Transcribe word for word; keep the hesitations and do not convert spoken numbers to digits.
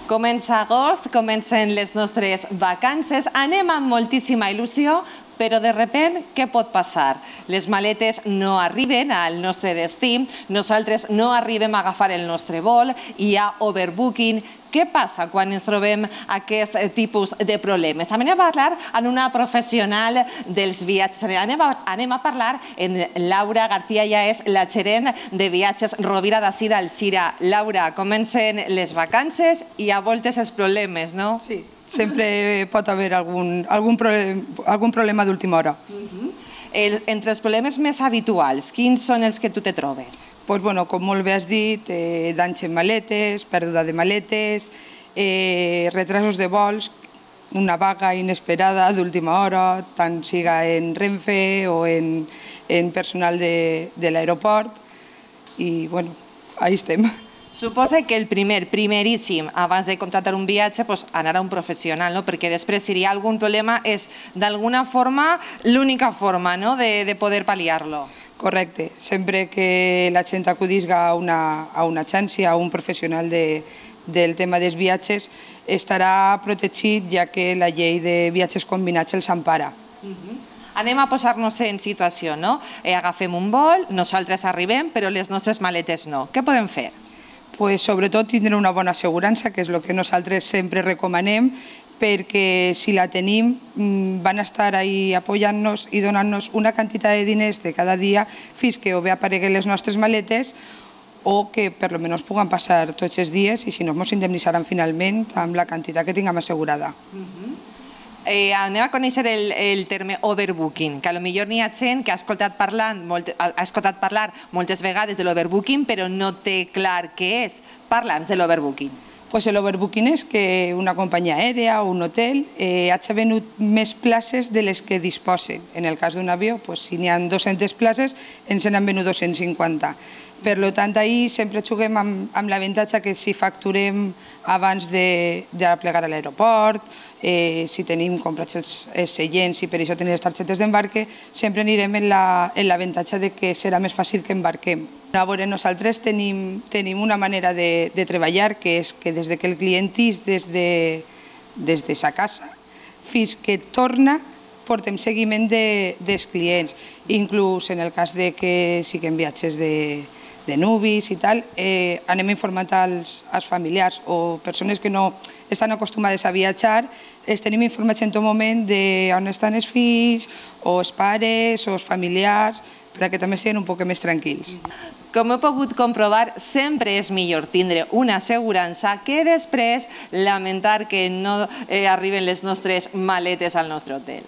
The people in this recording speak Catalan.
Comença agost, comencen les nostres vacances, anem amb moltíssima il·lusió, però de repent, què pot passar? Les maletes no arriben al nostre destí, nosaltres no arribem a agafar el nostre vol, hi ha overbooking. Què passa quan ens trobem aquest tipus de problemes? Anem a parlar amb una professional dels viatges. Anem a parlar amb Laura García, ja és la gerent de viatges Rovira d'ací d'Alzira. Laura, comencen les vacances i a voltes els problemes, no? Sí, sempre pot haver algun, algun, problem, algun problema d'última hora. Uh-huh. El, entre els problemes més habituals, quins són els que tu te trobes? Pues, bueno, com molt bé has dit, eh, danys en maletes, pèrdua de maletes, eh, retrasos de vols, una vaga inesperada d'última hora, tant siga en Renfe o en, en personal de, de l'aeroport, i bueno, ahí estem. Suposa que el primer, primeríssim, abans de contractar un viatge, pues, anar a un professional, no? Perquè després, si hi ha algun problema, és d'alguna forma l'única forma, no?, de, de poder pal·liar-lo. Correcte. Sempre que la gent acudisca a una, a una agència, a un professional de, del tema dels viatges, estarà protegit, ja que la llei de viatges combinats els empara. Uh-huh. Anem a posar-nos en situació, no? Eh, agafem un vol, nosaltres arribem, però les nostres maletes no. Què podem fer? Pues, sobretot tindre una bona assegurança, que és el que nosaltres sempre recomanem, perquè si la tenim van estar ahí apoyant-nos i donant-nos una quantitat de diners de cada dia fins que o bé apareguen les nostres maletes o que per almenys puguen passar tots els dies i si no ens indemnitzaran finalment amb la quantitat que tinguem assegurada. Uh-huh. Eh, anem a conèixer el, el terme overbooking, que potser n'hi ha gent que ha escoltat, parlant, molt, ha escoltat parlar moltes vegades de l'overbooking, però no té clar què és. Parla'ns de l'overbooking. Pues l'overbooking és que una companyia aèria o un hotel eh, hagi venut més places de les que disposen. En el cas d'un avió, pues, si n'hi ha dues-centes places, ens n'han venut dos-cents cinquanta. Per tant, ahir sempre juguem amb, amb l'avantatge que si facturem abans de, de plegar a l'aeroport, eh, si tenim comprats els, els seients i per això tenim les targetes d'embarque, sempre anirem en l'avantatge de que serà més fàcil que embarquem. A veure, nosaltres tenim, tenim una manera de, de treballar que és que des que el client és des de, des de sa casa fins que torna portem seguiment de, dels clients. Inclús en el cas de que siguin viatges de de nuvis i tal, eh, anem informant als, als familiars o persones que no estan acostumades a viatjar, els tenim informats en tot moment d'on estan els fills, o els pares, o els familiars, perquè també estiguin un poc més tranquils. Com he pogut comprovar, sempre és millor tindre una assegurança que després lamentar que no eh, arriben les nostres maletes al nostre hotel.